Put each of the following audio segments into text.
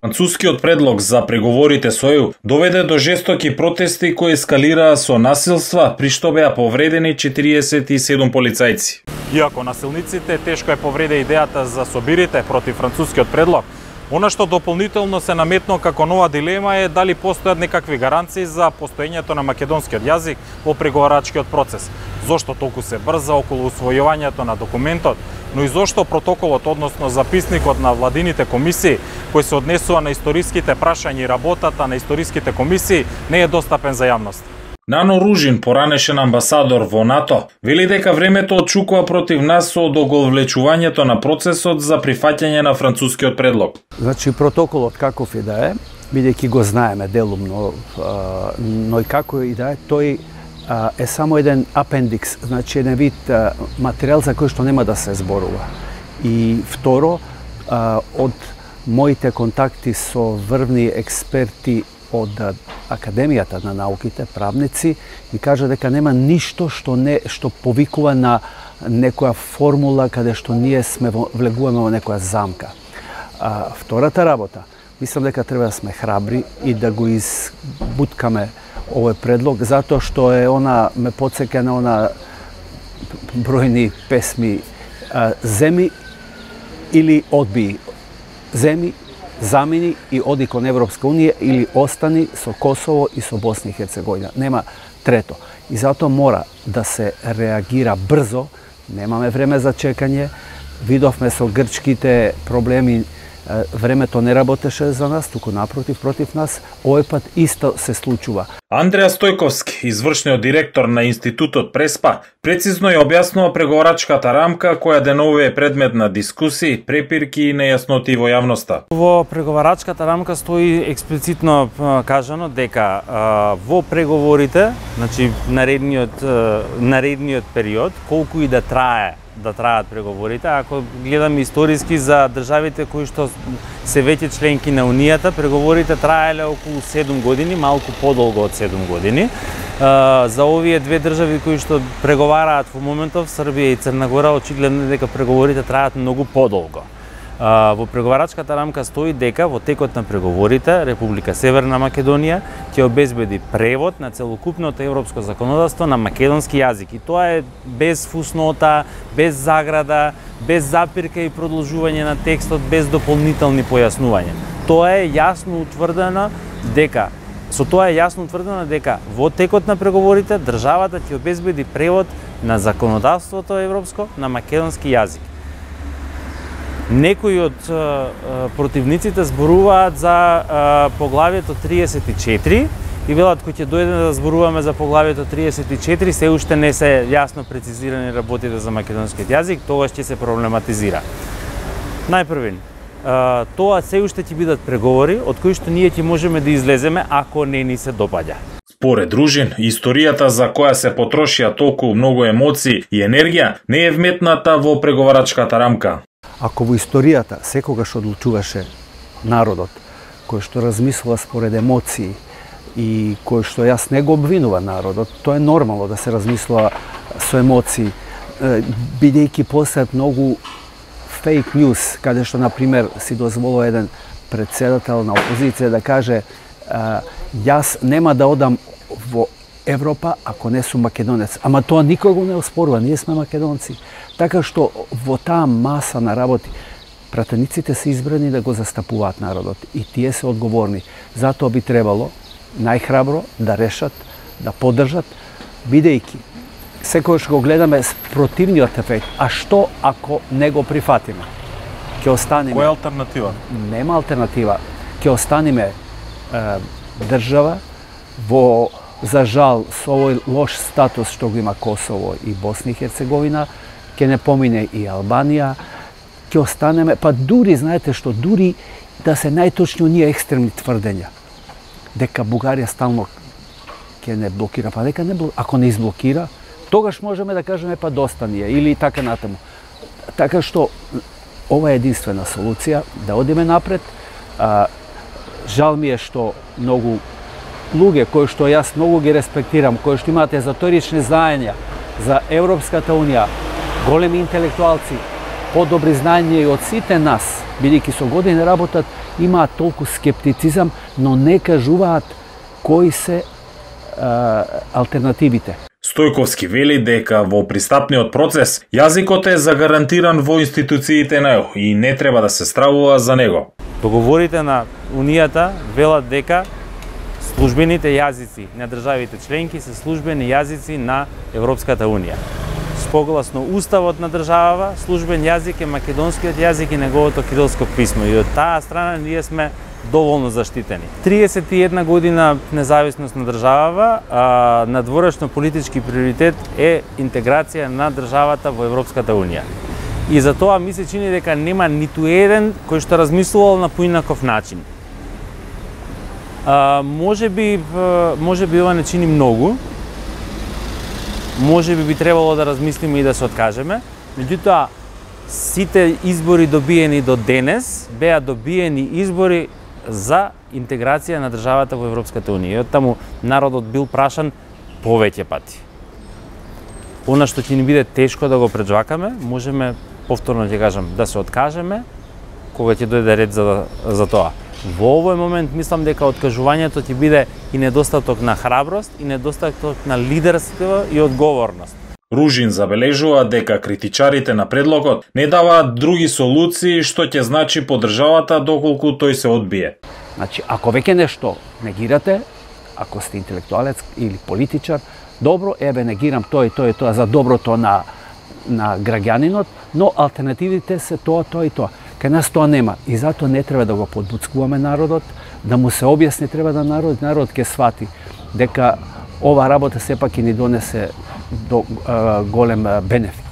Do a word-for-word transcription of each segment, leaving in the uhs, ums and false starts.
Францускиот предлог за преговорите со ЕУ доведе до жестоки протести кои ескалираа со насилства, при што беа повредени четириесет и седум полицајци. Иако насилниците тешко е повреде идејата за собирите против францускиот предлог, она што дополнително се наметно како нова дилема е дали постојат некакви гаранции за постоењето на македонскиот јазик во преговарачкиот процес. Зошто толку се брза околу усвојувањето на документот, но и зошто протоколот, односно записникот на владините комисии, кој се однесува на историските прашања и работата на историските комисии, не е достапен за јавност. Нано Ружин, поранешен амбасадор во НАТО, вели дека времето отчукува против нас со одоговлечувањето на процесот за прифаќање на францускиот предлог. Значи, протоколот каков и да е, бидејќи го знаеме делумно, но и како и да е, тој е само еден апендикс, значи еден вид материјал за кој што нема да се зборува. И второ, од моите контакти со врвни експерти од Академијата на науките, правници, ми кажа дека нема ништо што не што повикува на некоја формула каде што ние сме влегуваме во некоја замка. А, втората работа, мислам дека треба да сме храбри и да го избуткаме овој предлог, затоа што е она, ме потсеќа на она бројни песми а, земи или одби, земи, замени и оди кон Европска унија или остани со Косово и со Босна и Херцеговина. Нема трето. И затоа мора да се реагира брзо, немаме време за чекање, видовме со грчките проблеми, времето не работеше за нас, туку напротив, против нас, овој пат исто се случува. Андреа Стојковски, извршниот директор на Институтот Преспа, прецизно ја објаснува преговарачката рамка која деновиве е предмет на дискусии, препирки и нејасноти во јавноста. Во преговарачката рамка стои експлицитно кажано дека во преговорите, значи наредниот наредниот период, колку и да трае да траат преговорите, ако гледаме историски за државите кои што се веќе членки на Унијата, преговорите траеле околу седум години, малку подолго од седум години. За овие две држави кои што преговараат во моментов, Србија и Црна Гора, очигледно дека преговорите траат многу подолго. Во преговарачката рамка стои дека во текот на преговорите Република Северна Македонија ќе обезбеди превод на целокупното европско законодавство на македонски јазик. И тоа е без фуснота, без заграда, без запирка и продолжување на текстот, без дополнителни појаснувања. Тоа е јасно утврдено дека со тоа е јасно утврдено дека во текот на преговорите државата ќе обезбеди превод на законодавството европско на македонски јазик. Некои од противниците зборуваат за поглавието триесет и четири и велат кој ќе дојде да зборуваме за поглавието триесет и четири, се уште не се јасно прецизирани работите за македонскиот јазик, тогаш ќе се проблематизира. Најпрвен, тоа се уште ќе бидат преговори од кои што ние ќе можеме да излеземе ако не ни се допаѓа. Според Ружин, историјата за која се потрошија толку многу емоции и енергија не е вметната во преговарачката рамка. Ако во историјата секогаш одлучуваше народот, кој што размислува според емоции и кој што јас не го обвинува народот, тоа е нормално да се размислува со емоции, бидејќи постојат многу фейк ньюс, каде што, например, си дозволува еден председател на опозиција да каже јас нема да одам во Европа ако не сум македонец. Ама тоа никој го не оспорува, ние сме македонци. Така што во таа маса на работи пратениците се избрани да го застапуваат народот и тие се одговорни. Затоа би требало најхрабро да решат, да поддржат, бидејќи секогаш го гледаме противниот ефект. А што ако не го прифатиме? Ќе останеме. Која алтернатива? Нема алтернатива. Ќе останеме е, држава во, за жал, со овој лош статус што го има Косово и Босна и Херцеговина, ќе не помине и Албанија, ќе останеме, па дури, знаете што, дури да се најточни оние екстремни тврдења, дека Бугарија стално ќе не блокира, па дека не блокира, ако не изблокира, тогаш можеме да кажеме па доста ни е, или така натаму. Така што, ова е единствена солуција, да одиме напред. А, жал ми е што многу луѓе, кои што јас многу ги респектирам, кои што имаат езотерични знаења за Европската унија, големи интелектуалци, подобри знаења и од сите нас, бидејќи со години работат, имаат толку скептицизам, но не кажуваат кои се а, алтернативите. Стојковски вели дека во пристапниот процес јазикот е загарантиран во институциите на ЕУ и не треба да се стравува за него. Договорите на Унијата велат дека службените јазици на државите членки се службени јазици на Европската Унија. Согласно уставот на државава, службен јазик е македонскиот јазик и неговото кирилско писмо и од таа страна ние сме доволно заштитени. триесет и една година независност на државава, а надворешно политички приоритет е интеграција на државата во Европската Унија. И за тоа ми се чини дека нема ниту еден кој што размислувал на поинаков начин. А, може би, може би ова не чини многу, може би би требало да размислиме и да се откажеме, меѓутоа сите избори добиени до денес беа добиени избори за интеграција на државата во Европската Унија. И од таму народот бил прашан повеќе пати. Она што ќе ни биде тешко да го преджвакаме, можеме повторно ќе кажам да се откажеме кога ќе дојде ред за за тоа. Во овој момент мислам дека откажувањето ќе биде и недостаток на храброст и недостаток на лидерство и одговорност. Ружин забележува дека критичарите на предлогот не даваат други солуции што ќе значи по државата доколку тој се одбие. Значи, ако веќе нешто негирате, ако сте интелектуалец или политичар, добро, еве негирам тоа и тоа и тоа за доброто на на граѓанинот, но алтернативите се тоа, тоа и тоа. Кај нас тоа нема и затоа не треба да го подбуцкуваме народот, да му се објасни, треба да народ, народ ќе свати дека ова работа сепак ќе ни донесе до а, голем а, бенефит.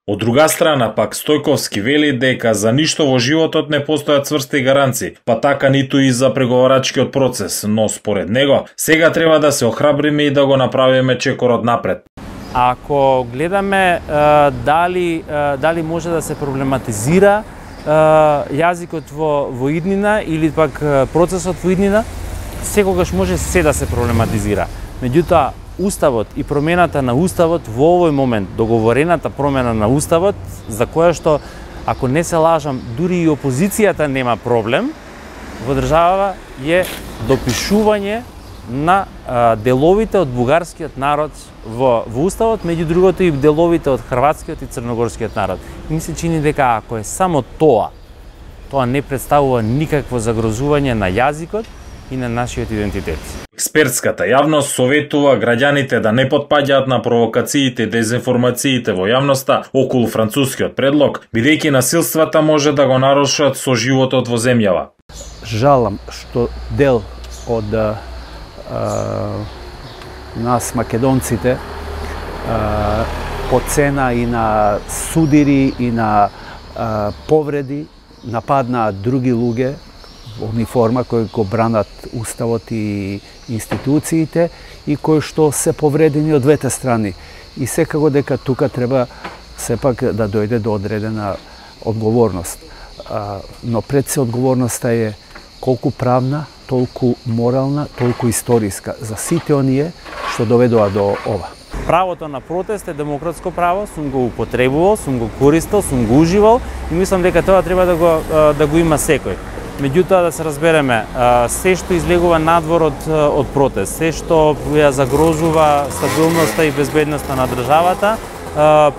Од друга страна пак Стојковски вели дека за ништо во животот не постојат цврсти гаранции, па така ниту и за преговарачкиот процес, но според него сега треба да се охрабриме и да го направиме чекорот напред. Ако гледаме а, дали а, дали може да се проблематизира а, јазикот во во иднина или пак процесот во иднина, секогаш може се да се проблематизира. Меѓутоа, Уставот и промената на Уставот во овој момент, договорената промена на Уставот, за која што, ако не се лажам, дури и опозицијата нема проблем, во државава е допишување на а, деловите од бугарскиот народ во, во Уставот, меѓу другото и деловите од хрватскиот и црногорскиот народ. И ми се чини дека ако е само тоа, тоа не представува никакво загрозување на јазикот и на нашиот идентитет. Експертската јавност советува граѓаните да не потпаѓаат на провокациите и дезинформациите во јавноста околу францускиот предлог, бидејќи насилствата може да го нарушат со животот во земјава. Жалам што дел од а, нас македонците а, по цена и на судири и на а, повреди нападнаат други луѓе во униформа кои го бранат уставот и институциите и кои што се повредени од двете страни. И секако дека тука треба сепак да дојде до одредена одговорност. А, но пред се одговорноста е колку правна, толку морална, толку историска за сите оние што доведоа до ова. Правото на протест е демократско право, сум го употребувал, сум го користел, сум го уживал и мислам дека тоа треба да го да го има секој. Меѓутоа да се разбереме, се што излегува надвор од, од протест, се што ја загрозува стабилноста и безбедноста на државата,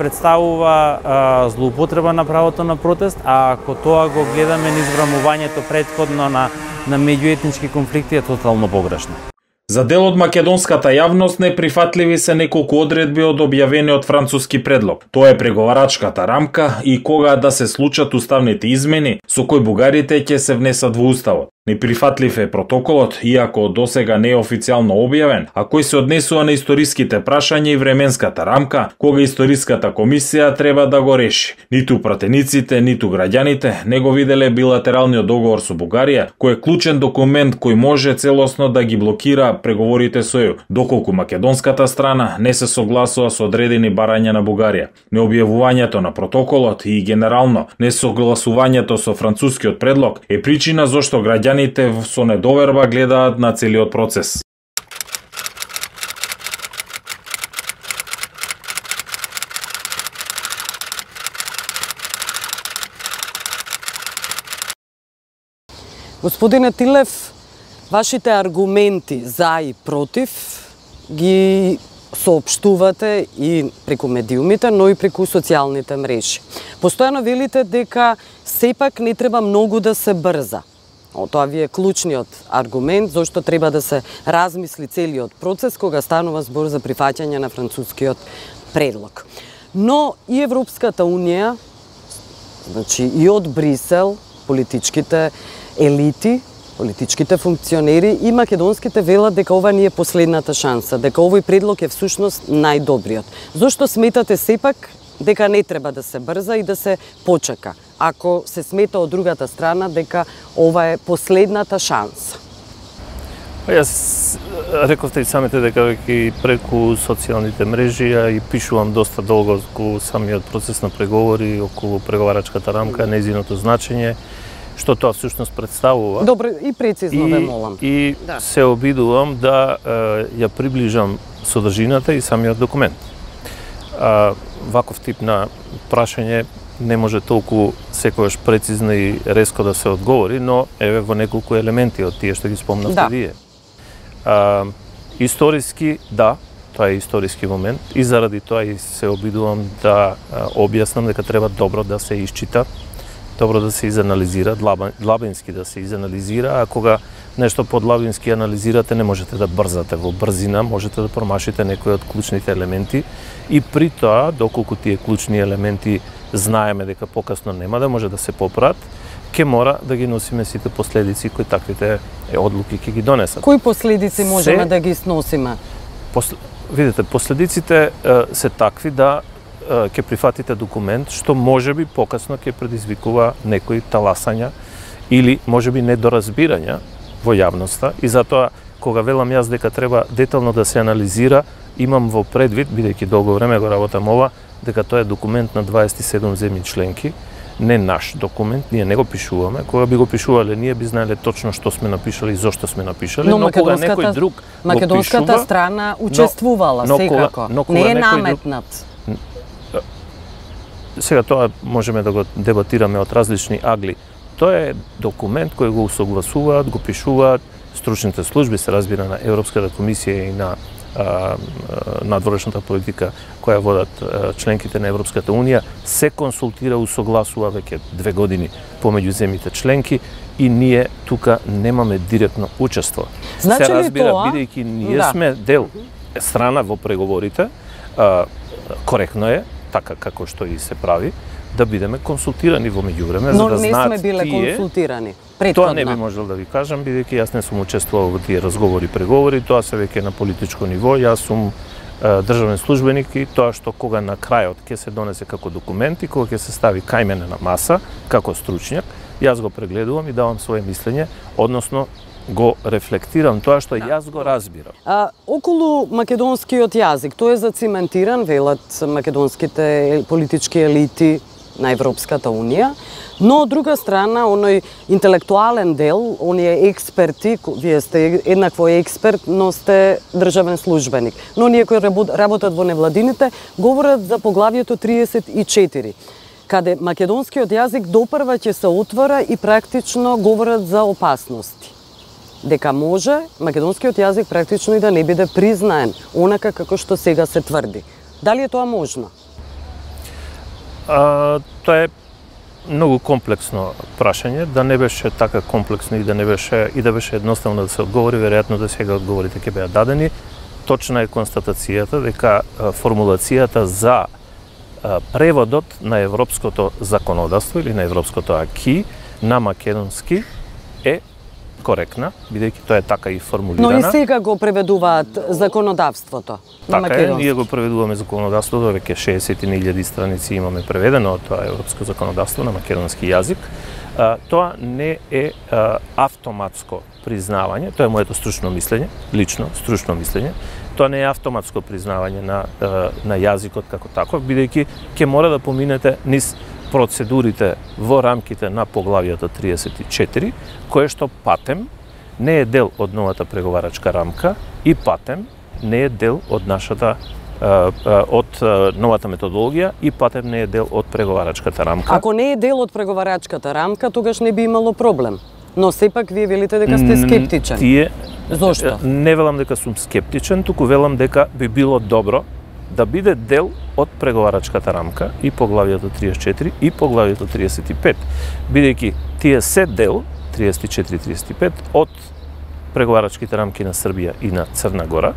представува злоупотреба на правото на протест, а ако тоа го гледаме низ врамувањето претходно на, на меѓуетнички конфликти е тотално погрешно. За дел од македонската јавност неприфатливи се неколку одредби од објавениот француски предлог. Тоа е преговарачката рамка и кога да се случат уставните измени со кои бугарите ќе се внесат во уставот. Неприфатлив е протоколот, иако досега не е официјално објавен, а кој се однесува на историските прашања и временската рамка, кога историската комисија треба да го реши. Ниту пратениците, ниту граѓаните не го виделе билатералниот договор со Бугарија, кој е клучен документ кој може целосно да ги блокира преговорите со ЕУ, доколку македонската страна не се согласува со одредени барања на Бугарија. Необјавувањето на протоколот и генерално несогласувањето со францускиот предлог е причина зошто граѓаните со недоверба гледаат на целиот процес. Господине Тилев, вашите аргументи за и против ги соопштувате и преку медиумите, но и преку социјалните мрежи. Постојано велите дека сепак не треба многу да се брза. О, тоа ви е клучниот аргумент зашто треба да се размисли целиот процес кога станува збор за прифаќање на францускиот предлог. Но и Европската унија, значи и од Брисел, политичките елити, политичките функционери и македонските велат дека ова не е последната шанса, дека овој предлог е всушност најдобриот. Зошто сметате сепак дека не треба да се брза и да се почека, ако се смета од другата страна дека ова е последната шанса? Јас рековте и самите дека веќе преку социјалните мрежи ја и пишувам доста долго околу самиот процес на преговори, околу преговарачката рамка, нејзиното значење, што тоа всушност представува. Добро, и прецизно ве молам. И да. се обидувам да е, ја приближам содржината и самиот документ. А, ваков тип на прашање не може толку секогаш прецизно и резко да се одговори, но еве во неколку елементи од тие што ги спомнавте да. вие. А, историски, да, тоа е историски момент и заради тоа и се обидувам да а, објаснам дека треба добро да се исчита, добро да се изанализира, длабински да се изанализира, а кога нешто подлабински анализирате, не можете да брзате во брзина, можете да промашите некои од клучните елементи и при тоа, доколку тие клучни елементи знаеме дека покасно нема да може да се поправат, ќе мора да ги носиме сите последици кои таквите одлуки ќе ги донесат. Кои последици можеме се, да ги сносиме? Посл... Видите, последиците е, се такви да ќе прифатите документ што можеби покасно ќе предизвикува некои таласања или можеби недоразбирања во јавноста и затоа кога велам јас дека треба детално да се анализира, имам во предвид, бидејќи долго време го работам ова, дека тоа е документ на дваесет и седум земји членки, не наш документ, ние не го пишуваме. Кога би го пишувале, ние би знаеле точно што сме напишали и зошто сме напишали, но, но кога некој друг македонската го пишува, страна учествувала но, но секако. Кога, но кога не е некој наметнат. Друг... Сега тоа можеме да го дебатираме од различни агли. Тоа е документ кој го усогласуваат, го пишуваат стручните служби, се разбира, на Европската комисија и на а, надворешната политика која водат а, членките на Европската унија, се консултира, усогласува веќе две години помеѓу земјите членки и ние тука немаме директно учество. Значи се разбира, тоа... бидејќи ние да. сме дел страна во преговорите, а, коректно е, така како што и се прави, да бидеме консултирани во меѓувреме, за да знаат Но не сме биле тие... консултирани претходно. Тоа не би можел да ви кажам, бидејќи јас не сум учествувал во тие разговори, преговори, тоа се веќе на политичко ниво, јас сум е, државен службеник и тоа што кога на крајот ќе се донесе како документ и кога ќе се стави кај мене на маса, како стручњак, јас го прегледувам и давам свое мислење, односно го рефлектирам тоа што јас го разбирам. А, околу македонскиот јазик, тој е зациментиран, велат македонските политички елити на Европската унија, но од друга страна, оној интелектуален дел, оние експерти, вие сте еднакво експерт, но сте државен службеник, но оние кои работат во невладините, говорат за поглавието триесет и четири, каде македонскиот јазик допрва ќе се отвора и практично говорат за опасности. Дека може македонскиот јазик практично и да не биде признаен, онака како што сега се тврди. Дали е тоа можно? А, тоа е многу комплексно прашање, да не беше така комплексно и да не беше и да беше едноставно да се одговори, веројатно да сега одговорите ќе беа дадени. Точна е констатацијата дека формулацијата за преводот на европското законодавство или на европското аки на македонски е коректна, бидејќи тоа е така и формулирана. Но и сега го преведуваат законодавството на така македонски. Е, ние го преведуваме законодавството, веќе шеесет илјади страници имаме преведено од тоа европско законодавство на македонски јазик. А, тоа не е а, автоматско признавање, тоа е моето стручно мислење, лично стручно мислење. Тоа не е автоматско признавање на на јазикот како таков, бидејќи ќе мора да поминете низ процедурите во рамките на поглавието триесет и четири, кое што патем не е дел од новата преговарачка рамка и патем не е дел од нашата од новата методологија и патем не е дел од преговарачката рамка. Ако не е дел од преговарачката рамка, тогаш не би имало проблем. Но сепак вие велите дека сте скептичен. Тие Зошто? Не велам дека сум скептичен, туку велам дека би било добро да биде дел од преговарачката рамка и поглавието триесет и четири и поглавието триесет и пет, бидејќи тие се дел триесет и четири и триесет и пет од преговарачките рамки на Србија и на Црна Гора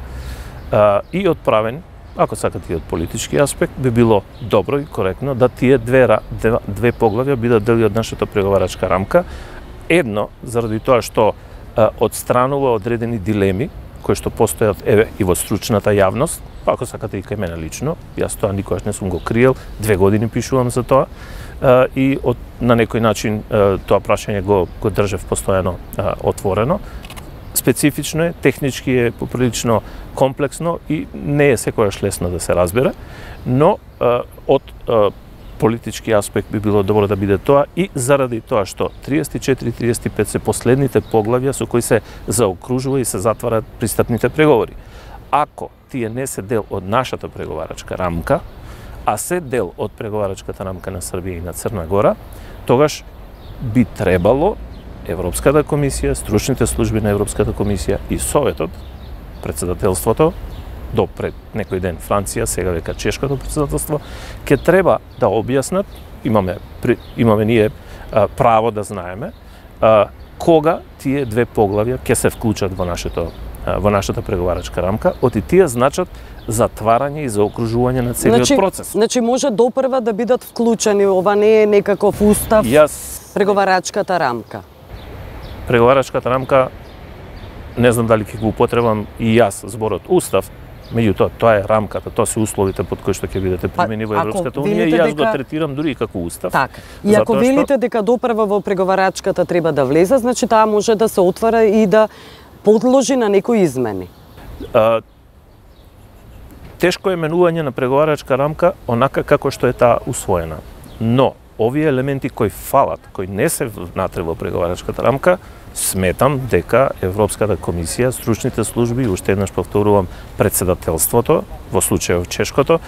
а, и отправен, ако сакате и од политички аспект, би било добро и коректно да тие две, две, две поглавја бидат дели од нашата преговарачка рамка. Едно, заради тоа што а, одстранува одредени дилеми кои што постојат еве и во стручната јавност, па ако сакате и кај мене лично, јас тоа никогаш не сум го криел, две години пишувам за тоа, а, и од, на некој начин а, тоа прашање го, го држев постојано а, отворено. Специфично е, технички е поприлично комплексно и не е секојаш лесно да се разбере, но а, од а, политички аспект би било добро да биде тоа и заради тоа што триесет и четири и триесет и пет се последните поглавја со кои се заокружува и се затварат пристапните преговори. Ако тие не се дел од нашата преговарачка рамка, а се дел од преговарачката рамка на Србија и на Црна Гора, тогаш би требало Европската комисија, стручните служби на Европската комисија и Советот, председателството, до пред некој ден Франција, сега века Чешкото председателство, ќе треба да објаснат, имаме, имаме ние а, право да знаеме, а, кога тие две поглавја ќе се вклучат во нашето во нашата преговарачка рамка, оти тие значат затварање и заокружување на целиот значи, процес. Значи може допрва да бидат вклучени, ова не е некаков устав, Јас... преговарачката рамка. Преговарачката рамка, не знам дали ќе го употребам и јас зборот устав, меѓутоа тоа е рамката, тоа се условите под кои што ќе бидете примени во Европската унија и јас дека... го третирам дури и како устав. Така. И ако велите што... дека допрва во преговарачката треба да влезе, значи таа може да се отвара и да подложи на некои измени. А, тешко е менување на преговарачка рамка онака како што е таа усвоена. Но овие елементи кои фалат, кои не се внатре во преговарачката рамка, сметам дека Европската комисија, стручните служби, уште еднаш повторувам, председателството, во случајот Чешкото,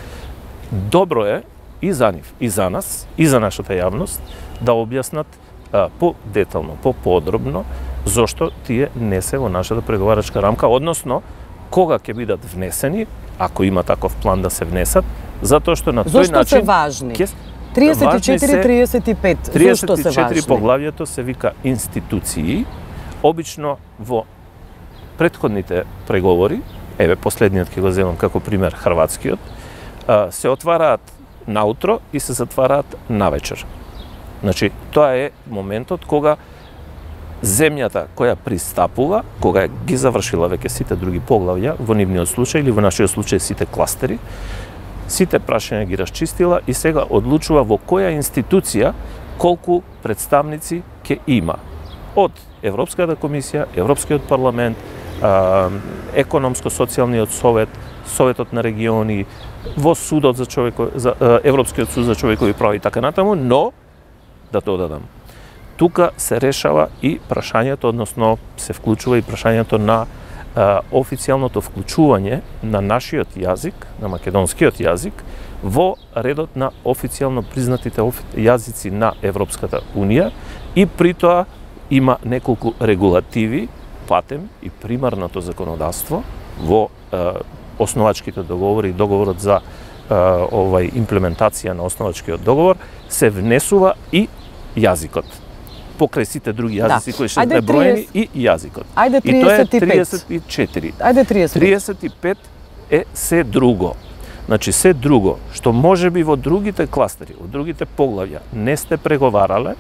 добро е и за нив, и за нас, и за нашата јавност да објаснат а, по-детално, по-подробно зошто тие не се во нашата преговарачка рамка, односно кога ќе бидат внесени, ако има таков план да се внесат, затоа што на тој начин... Зошто се важни? Ке... триесет и четири и триесет и пет, зошто се важни? триесет и четири поглавието се вика институции, обично во претходните преговори, еве последниот ќе го земам како пример хрватскиот, се отвараат наутро и се затвараат навечер. Значи, тоа е моментот кога земјата која пристапува, кога ги завршила веќе сите други поглавја, во нивниот случај или во нашиот случај сите кластери, сите прашања ги расчистила и сега одлучува во која институција колку представници ќе има. Од Европската комисија, Европскиот парламент, економско-социјалниот совет, Советот на региони, во судот за човеко, за Европскиот суд за човекови права и така натаму, но да додадам, тука се решава и прашањето, односно се вклучува и прашањето на а, официјалното вклучување на нашиот јазик, на македонскиот јазик, во редот на официјално признатите јазици на Европската унија и при тоа има неколку регулативи, патем и примарното законодавство во а, основачките договори и договорот за а, овај имплементација на основачкиот договор се внесува и јазикот. Покрај сите други јазици да. кои се преброени и јазикот. Ајде триесет и пет. И тоа е триесет и четири. Ајде триесет и пет. триесет и пет е се друго. Значи се друго што може би во другите кластери, во другите поглавја не сте преговарале,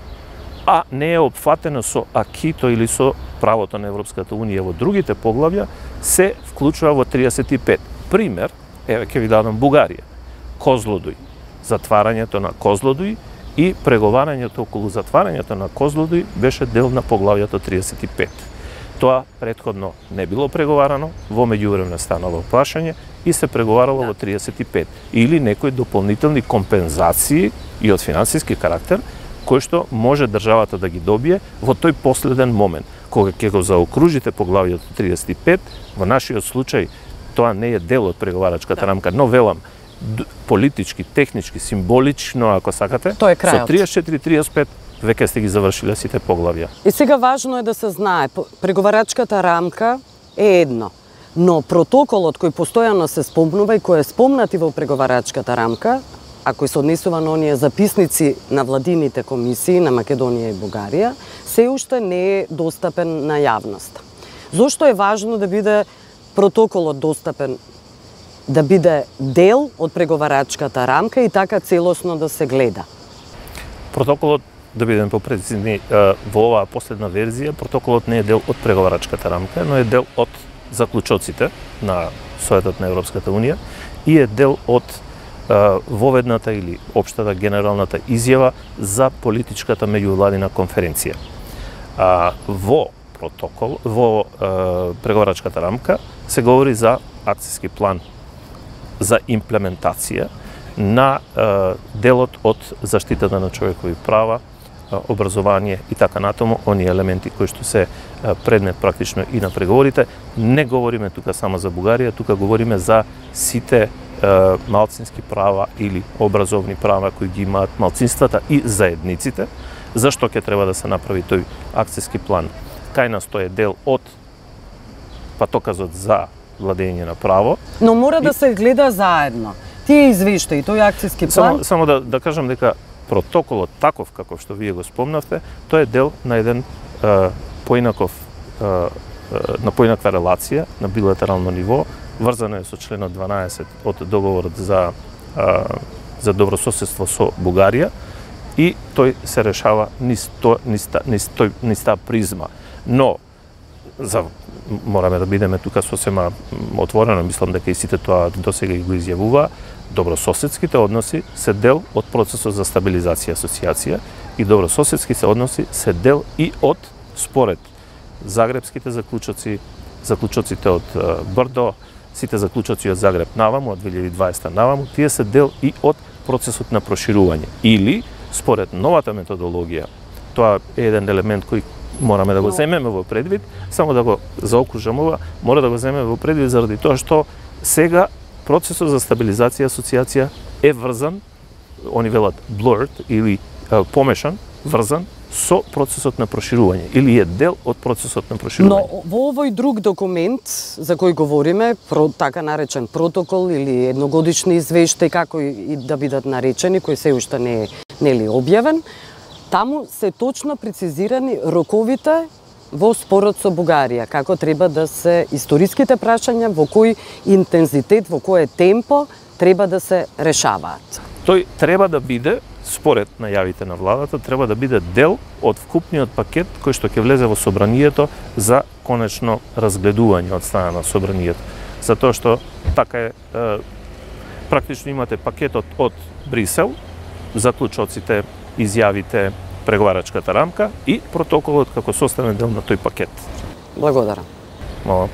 а не е опфатено со акито или со правото на Европската унија во другите поглавја, се вклучува во триесет и пет. Пример, еве ќе ви дадам Бугарија. Козлодуј. Затварањето на Козлодуј и преговарањето околу затварањето на Козлодуј беше дел на поглавјето триесет и пет. Тоа претходно не било преговарано, во меѓувреме станало плашање и се преговарало да. во триесет и пет. Или некои дополнителни компензации и од финансиски карактер, кои што може државата да ги добие во тој последен момент. Кога ќе го заокружите поглавјето триесет и пет, во нашиот случај тоа не е дел од преговарачката да. рамка, но велам, политички, технички, символично, ако сакате, Тој е крајот. со триесет и четири и триесет и пет веќе сте ги завршиле сите поглавја. И сега важно е да се знае, преговарачката рамка е едно, но протоколот кој постојано се спомнува и кој е спомнат и во преговарачката рамка, а кој се однесува на оние записници на владините комисии на Македонија и Бугарија, се уште не е достапен на јавноста. Зошто е важно да биде протоколот достапен, да биде дел од преговарачката рамка и така целосно да се гледа? Протоколот, да бидеме попрецизни, во оваа последна верзија, протоколот не е дел од преговарачката рамка, но е дел од заклучоците на Советот на Европската Унија и е дел од воведната или општата генералната изјава за политичката меѓувладина конференција. А, во протокол, во а, преговарачката рамка се говори за акцијски план за имплементација на а, делот од заштитата на човекови права, а, образование и така натаму, оние елементи кои што се а, предмет практично и на преговорите. Не говориме тука само за Бугарија, тука говориме за сите малцински права или образовни права кои ги имаат малцинствата и заедниците. Зашто ќе треба да се направи тој акцијски план? Кај нас тој е дел од патоказот за владење на право. Но мора и да се гледа заедно. Тие извештаи, тој акцијски план... Само, само да, да кажам дека протоколот таков како што вие го спомнавте, тој е дел на еден е, поинаков е, на поинаква релација на билатерално ниво, врзано е со членот дванаесет од договорот за а, за добрососедство со Бугарија и тој се решава низ то низ низ тој низ таа призма. Но за мораме да бидеме тука сосема отворено, мислам дека и сите тоа досега го изјавува, добрососедските односи се дел од процесот за стабилизација и асоциација и добрососедските односи се дел и од според загребските заклучоци, заклучоците од Брдо, сите заклучоци од Загреб наваму, од две илјади и дваесета наваму, тие се дел и од процесот на проширување. Или, според новата методологија, тоа е еден елемент кој мораме да го земеме во предвид, само да го заокружам ова, мора да го земеме во предвид заради тоа што сега процесот за стабилизација и асоциација е врзан, они велат blurred или а, помешан, врзан со процесот на проширување или е дел од процесот на проширување. Но во овој друг документ за кој говориме, про, така наречен протокол или едногодишни извештаи, како и да бидат наречени, кој се уште не е нели објавен, таму се точно прецизирани роковите во спорот со Бугарија, како треба да се историските прашања, во кој интензитет, во кое темпо треба да се решаваат. Тој треба да биде, според најавите на владата, треба да биде дел од вкупниот пакет кој што ќе влезе во собранието за конечно разгледување од страна на собранието. Затоа што така е, е практично имате пакетот од Брисел, заклучоците, изјавите, преговарачката рамка и протоколот како составен дел на тој пакет. Благодарам. Мала.